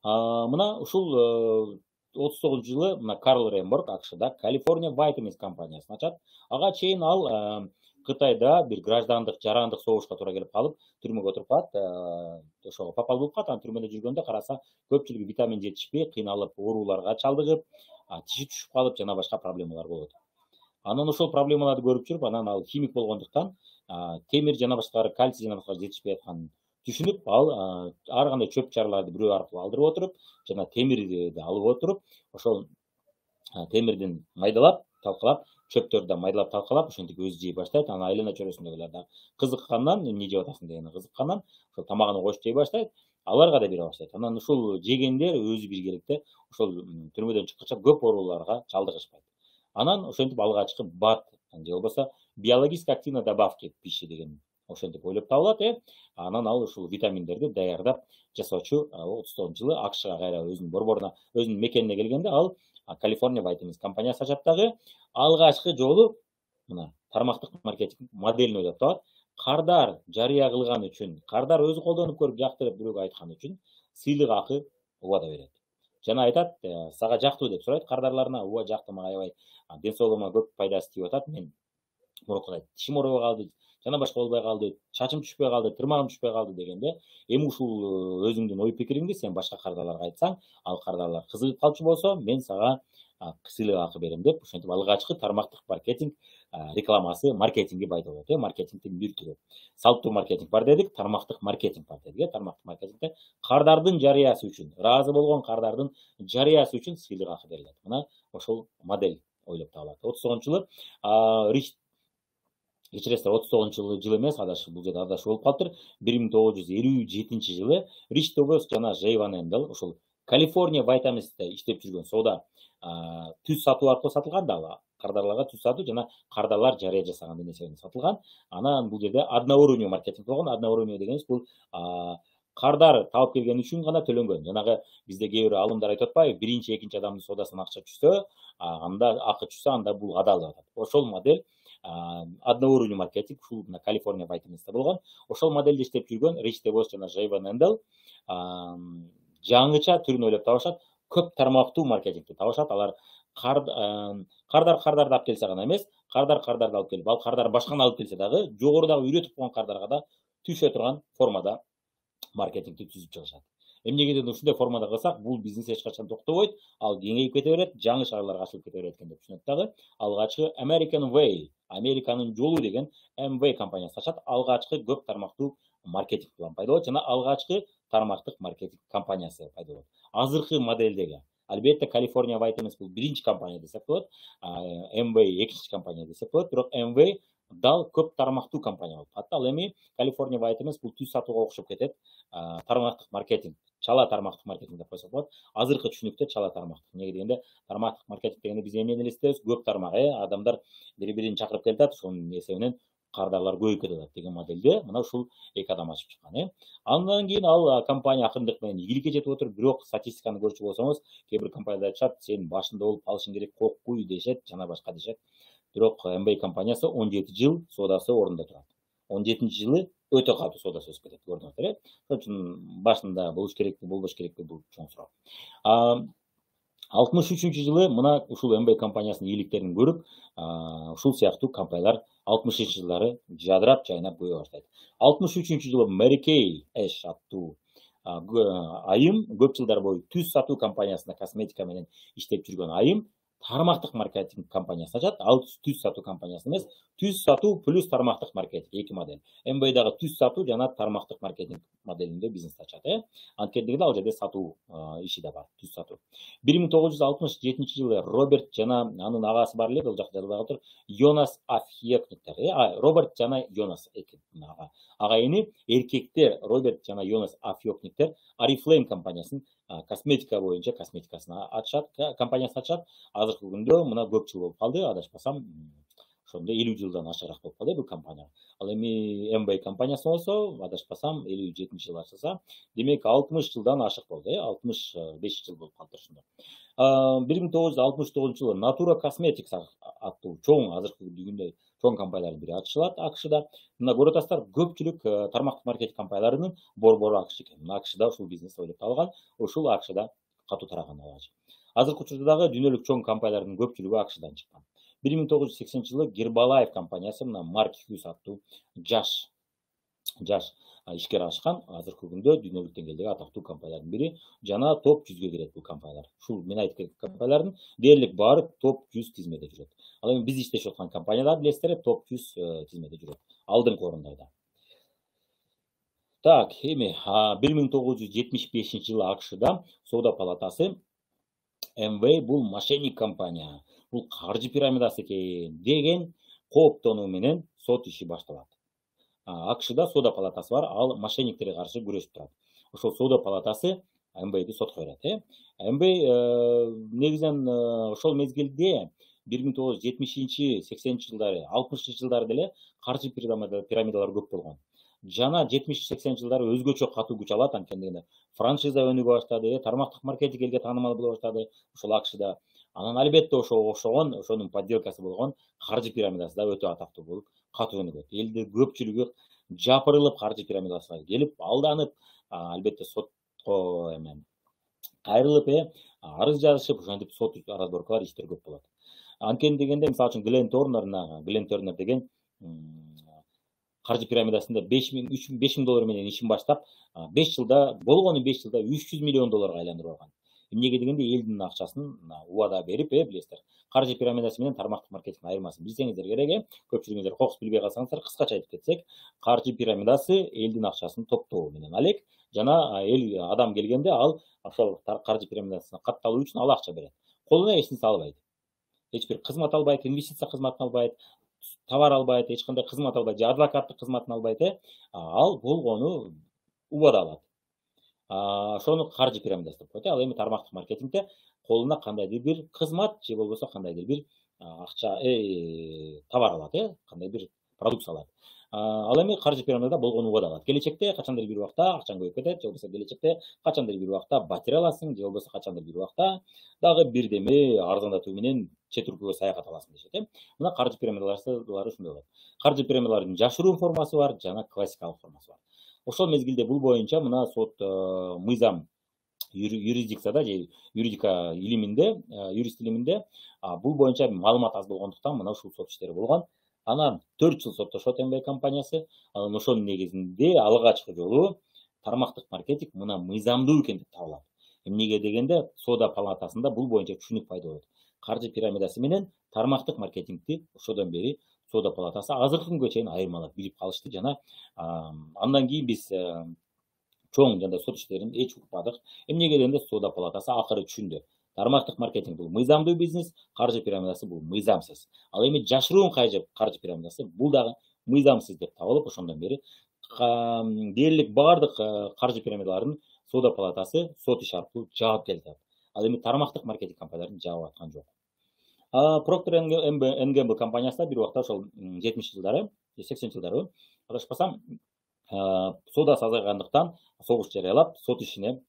Мына ушул 39-жылы мына Карл Ремборг АКШда California Vitamins компаниясын ачат. Ага чейин ал Кытайда бир граждандык жарандык согушка туура келип калып, түрмөгө отуруп калат. Ошого попал болуп калат. Анан түрмөдө жүргөндө караса, көпчүлүгү витамин жетишпей, кыйналып, ооруларга чалдыгып, тиши түшүп калып, жана башка проблемалар болот. Анан ошол проблемаларды көрүп жүрүп, анан ал химик болгондуктан темир жана башкалар, кальций жана башкалар жетишпей атканын түшүнүп, ал ар кандай чөп чарларды бирөө аркылуу алдырып отуруп, жана темирди алып отуруп, ошол темирдин майдалап, талкалап, чөптөрдү да майдалап талкалап, ошентип өзү жей баштайт. Анан айлана чөйрөсүндөгүлөр да кызыккандан, эмне жеп атасың дегенде кызыккандан, ошол тамагына кошуп жей баштайт. Аларга да бере баштайт. Анан ушул жегендер өзү биргеликте ошол түрмөдөн чыккача көп ооруларга чалдыгышпайт. Анан ошентип алгачкы БАД же болбосо биологически активной добавки пищи деген ошентип ойлоп табылат. Анан ал ушул витаминдерди даярдап жасоочу 39-жылы АКШга кайра өзүнүн борборуна, өзүнүн мекенине келгенде ал California Vitamins компаниясы ачат дагы. Алгачкы жолу мына тармактык маркетинг моделин ойлоп табат. Кардар жарыя кылган үчүн, кардар өзү колдонуп көрүп жакты деп бирөөгө айткан үчүн сыйлык акы убада берет. Жана айтат, сага жактыбы деп сурайт кардарларына. Ооба жакты, мага аябай ден соолугума көп пайдасы тип атат. Мен мурункудай тишим оорубай калды, жана башка болбой калды, чачым түшпөй калды, тырмагым түшпөй калды дегенде, эми ушул өзүңдүн ой пикириңди сен башка кардарларга айтсаң, ал кардарлар кызыгып калчу болсо, мен сага сыйлык акы берем деп, ошентип алгачкы тармактык маркетинг рекламасы, маркетинги пайда болот. Маркетингдин бир түрү. Салттуу маркетинг бар дедик, тармактык маркетинг бар дедик. Тармактык маркетингде кардардын жарыясы үчүн, ыраазы болгон кардардын жарыясы үчүн сыйлык акы берилет. Мына ошол модель ойлоп табылат. 39-жылы кечиресиздер, 39-жылы эмес, бул жерде адашуу болуп калыптыр. 1957-жылы Рич Тобос жана Джей Ван Эндел ушул California Vitamins'те иштеп жүргөн сода түз сатуу аркылуу сатылган да, кардарларга түз сатуу жана кардарлар жарыя жасаган нерсени сатылган. Анан бул жерде одноуровневый маркетинг болгон. Одноуровневый дегенибиз бул кардар табып келген үчүн гана төлөнгөн. Жанагы бизде кээ бир алымдар айтып атпайбы, биринчи, экинчи адамдын содасынан акча түшсө, анда акы түшсө, анда бул адал деп атат. Ошол модель одноуровневый маркетинг ушул California Vitamins'те болгон. Ошол модельде иштеп жүргөн Рич Тобос жана Джей Ван Эндел жаңыча түрүн ойлоп табышат, көп тармактуу маркетингди табышат. Алар кардарды алып келсе гана эмес, кардарды алып келип, ал кардар башканы алып келсе дагы, жогорудагы үйрөтүп койгон кардарга да түшө турган формада маркетингди түзүп чыгышат. Эмнегеден ушундай формада кылсак, бул бизнес эч качан токтобойт, ал кеңейип кете берет, жаңы шаарларга ачылып кете берет экен деп түшүнөт дагы. Алгачкы American Way, Американын жолу деген MV компаниясы ачат. Алгачкы көп тармактуу маркетинг план пайда болот жана алгачкы тармактык маркетинг компаниясы пайда болот. Азыркы модельдеги албетте California Vitamins бул биринчи компания десек болот, MV экинчи компания десек болот, бирок MV дал көп тармактуу компания болуп калат. Ал эми California Vitamins бул түз сатууга окшоп кетет. Тармактык маркетинг, чала тармактык маркетинг деп койсок болот. Азыркы түшүнүктө чала тармактык. Эмнеге дегенде, тармактык маркетинг дегенде биз эмнени элестебиз? Көп тармак, адамдар бири-бирин чакырып келатат, ошонун эсебинен кардарлар көбөйүп кетет деген модельде мына ушул эки адам ачып чыккан. Андан кийин ал компания акырындык менен ийгиликке жетип отур, бирок статистиканы көрчү болсоңуз, кээ бир компаниялар айтышат, сен башында болуп калышың керек, коркуй дешет, жана башка дешет. Бирок MBA компаниясы 17 жыл содасы орунда турат. 17-жылы өтө катуу содасы өсүп кетет, көрдүңүздөр. Ошон үчүн башында болуш керекпи, болбош керекпи, бул чоң суроо. 63-жылы мына ушул MBA компаниясынын ийгиликтерин көрүп, ушул сыяктуу компаниялар 60-жылдары жадырап, жайнап көбөйө баштайт. 63-жылы Mary Kay Ash аттуу айым көп жылдар бою түз сатуу компаниясында косметика менен иштеп жүргөн айым тармактык маркетинг компаниясы ачат. Ал түз сатуу компаниясы эмес, түз сатуу плюс тармактык маркетинг, эки модель. MBA'дагы түз сатуу жана тармактык маркетинг моделинде бизнес ачат. Анткени ал жерде сатуу иши да бар, түз сатуу. 1967-жылы Роберт жана анын агасы бар эле, бул жакта жазылбай калыптыр. Йонас Афьекниктер. Роберт жана Йонас эки агайыны, эркектер Роберт жана Йонас Афьекниктер Oriflame компаниясын косметика боюнча косметикасын ачат, компаниясын ачат. Азыркы күндө мына көп жыл болуп калды, адашпасам, ошондо 50 жылдан ашыраак болуп калды бул компания. Ал эми MBA компаниясы болсо, адашпасам, 57-жылы ачылса, демек 60 жылдан ашык болду, 65 жыл болуп калды ошондо. 1969-жылы Natura Cosmetics аттуу чоң азыркы күндө чоң компаниялардын бири акшда. Мына көрүп атасыздар, көпчүлүк тармактык маркетинг компанияларынын борбору акш экен. Мына акшда ушул бизнес ойлоп табылган, ушул акшда катуу тараган алгач. Азыркы учурда дагы дүйнөлүк чоң компаниялардын көпчүлүгү акшдан чыккан. 1980-жылы Гербалайф компаниясы мына Марк Хьюз аттуу жаш ишкер ачкан. Азыркы күндө дүйнөлүк деңгээлдеги атактуу компаниялардын бири жана топ 100ге кирет бул компаниялар. Ушул мен айтып кеткен компаниялардын дээрлик баары топ 100 тизмеде жүрөт. Ал эми биз иштешип аткан компаниялар билесиздер, топ 100 тизмеде жүрөт. Алдыңкы орундайда. Так, эми 1975-жылы акшда соода палатасы Amway бул мошенник компания, бул каржы пирамидасы экен деген кооптонуу менен сот иши башталат. акшда соода палатасы бар, ал мошенниктерге каршы күрөшүп турат. Ошол соода палатасы Amway'ди сотко берет. Amway негизинен ошол мезгилде 1970-80 жылдары, 60 жылдары деле каржы пирамидалар көп болгон. Жана 70-80 жылдары өзгөчө катуу күч алат, анткени дегенде франшиза өнүгө баштады, тармактык маркетинг элге таанымал боло баштады ошол акшда. Анан албетте ошонун подделкасы болгон каржы пирамидасы да өтө атактуу болуп катуу өнүгөт. Элдин көпчүлүгү жапырылып каржы пирамидасына келип, алданып, албетте сотко кайрылып, арыз жазышып, ошентип сот разборкалар, иштер көп болот. Анткени дегенде, мисалы үчүн Глен Торнер деген каржы пирамидасында $5000 менен ишин баштап, 5 жылда 300 миллион долларга айландырып алган. Эмнеге дегенде элдин акчасын убада берип, билесиздер. Каржы пирамидасы менен тармактык маркетингдин айырмасын билсеңиздер керек, көпчүлүгүңүздөр кокус билбей калсаңыздар, кыскача айтып кетсек, каржы пирамидасы элдин акчасын топтоо менен алек, жана адам келгенде ал ошол каржы пирамидасына катталуу үчүн ал акча берет. Колуна эч нерсе албайт. Эч бир кызмат албайт, инвестиция кызматын албайт, товар албайт, эч кандай кызмат албайт, же адвокаттык кызматын албайт, ал болгону убада алат. Ошону каржы пирамидасы деп коет. Ал эми тармактык маркетингде колуна кандайдыр бир кызмат же болбосо кандайдыр бир акча, товар алат, кандай бир продукция алат. Ал эми каржы пирамидада болгону убада алат. Келечекте качандыр бир убакта акчаң көбөйүп кетет, же болбосо келечекте качандыр бир убакта батирей аласың, же болбосо качандыр бир убакта дагы бирдеме арзандатуу менен чет өлкөгө саякат аласың дешет. Мына каржы пирамидалары ушундай болот. Каржы пирамидалардын жашыруун формасы бар, жана классикалык формасы бар. Ошол мезгилде бул боюнча мына сот мыйзам юрисдикцияда же юридика илиминде, юрист илиминде бул боюнча маалымат аз болгондуктан мына ушул сот иштери болгон. Анан 4 жыл соттошот Amway компаниясы. Анан ошонун негизинде алгачкы жолу тармактык маркетинг мына мыйзамдуу экен деп табылат. Эмнеге дегенде соода палатасында бул боюнча түшүнүк пайда болот. Каржы пирамидасы менен тармактык маркетингди ошодон бери соода палатасы азыркы күнгө чейин айырмалап билип калышты, жана андан кийин биз чоң жана сот иштерин эч укпадык. Эмнеге дегенде соода палатасы акыры түшүндү. Тармактык маркетинг бул мыйзамдуу бизнес, каржы пирамидасы бул мыйзамсыз. Ал эми жашыруун каржы пирамидасы бул дагы мыйзамсыз деп табылып, ошондон бери дээрлик баардык каржы пирамидаларын соода палатасы сот иши аркылуу жаап келатат. Ал эми тармактык маркетинг компанияларын жаап аткан жок. Procter & Gamble компаниясы да бир убакта ошол 70 жылдары, 80 жылдары адашпасам, соодасы азайгандыктан согуш жарыялап, сот ишине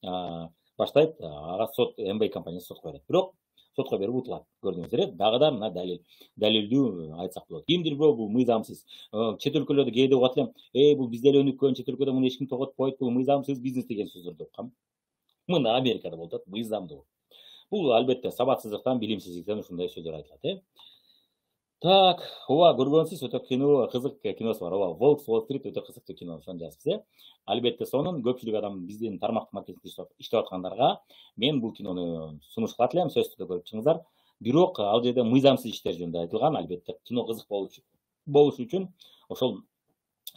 баштайт. Ага сот Amway компаниясы сотко берет. Бирок сотко берип утулат. Көрдүңүздөр, дагы да мына далилдүү айтсак болот. Кимдир бул мыйзамсыз. Чет өлкөлөрдө кээде угат элем, бул бизде эле өнүккөн, чет өлкөдө муну эч ким тоготпойт, бул мыйзамсыз бизнес деген сөздөрдү уккам. Мына Америкада болуп атат, мыйзамдуу. Бул албетте сабатсыздыктан, билимсиздиктен ушундай сөздөр айтылат. Так, көргөнсүз өтө кызык киносу бар. Волк с Уолл-стрит өтө кызыктуу кино, ошону жазыпсыз. Албетте сонун көпчүлүк адам биздин тармактык маркетингде иштеп аткандарга мен бул кинону сунуш кылат элем, сөзсүз түрдө көрүп чыгыңыздар. Бирок ал жерде мыйзамсыз иштер жөнүндө айтылган. Албетте кино кызык болуш үчүн ошол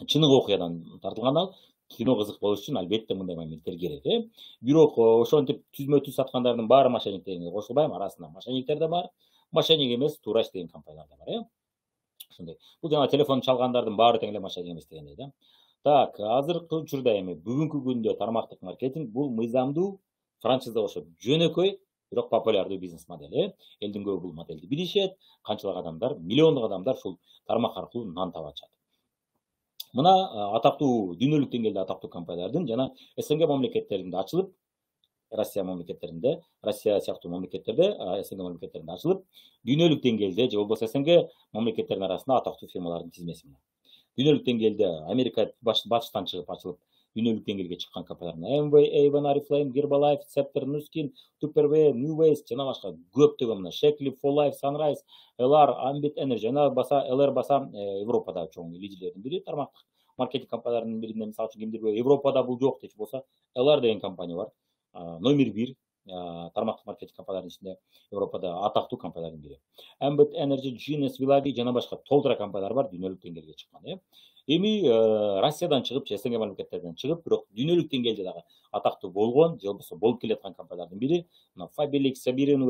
чыныгы окуядан тартылган ал. Кино кызык болуш үчүн албетте мындай моменттер керек. Бирок ошентип түзмө-түз саткандардын баары мошенник дегенге кошулбайм. Арасында мошенниктер да бар. Мошенник эмес, туура иштеген компаниялар да бар. Ошондой. Бул жана телефон чалгандардын баары тең эле мошенник эмес дегендей. Так, азыркы учурда эми бүгүнкү күндө тармактык маркетинг бул мыйзамдуу, франшиза окшоп жөнөкөй, бирок популярдуу бизнес модели. Элдин көбү бул модельди билишет. Канчалык адамдар, миллиондук адамдар ушул тармак аркылуу нан таап атышат. Мына атактуу дүйнөлүк деңгээлде атактуу компаниялардын жана СНГ мамлекеттеринде ачылып, Россия мамлекеттеринде, Россия сыяктуу мамлекеттерде, СНГ мамлекеттеринде ачылып, дүйнөлүк деңгээлде же болбосо СНГ мамлекеттеринин арасында атактуу фирмалардын тизмеси менен. Дүйнөлүк деңгээлде Америка батыштан чыгып ачылып, дүйнөлүк деңгээлге чыккан компаниялар Amway, Avon, Oriflame, Herbalife, Scepter, Nuskin, Tupperware, New Waste жана башка көптөгөн мына Shakely, For Life, Sunrise, LR, Ambit Energy жана LR баса Европада чоң лидерлердин бири, тармактык маркетинг компанияларынын биринен, мисалы үчүн кимдир Европада бул жок дечү болсо, LR деген компания бар. Номер 1 тармактык маркетинг компанияларынын ичинде Европада атактуу компаниялардын бири. Ambit Energy, Genius, Villavi жана башка толтура компаниялар бар дүйнөлүк деңгээлге чыккан. Эми Россиядан чыгып, СНГ мамлекеттеринен чыгып, бирок дүйнөлүк деңгээлде дагы атактуу болгон, же болбосо болуп келаткан компаниялардын бири Fabilix, Sabirin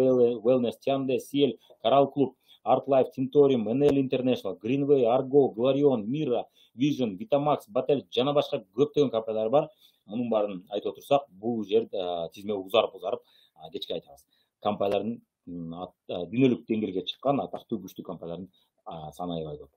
Wellness, Tiande, Ciel, Coral Club, Art Life, Tintorium, NL International, Greenway, Argo, Glorion, Mira, Vision, Vitamax, Batel жана башка көптөгөн компаниялар бар. Мунун баарын айтып отурсак, бул жер тизме узарып кечке айтабыз. Компаниялардын дүйнөлүк деңгээлге чыккан атактуу күчтүү компаниялардын саны аябай көп.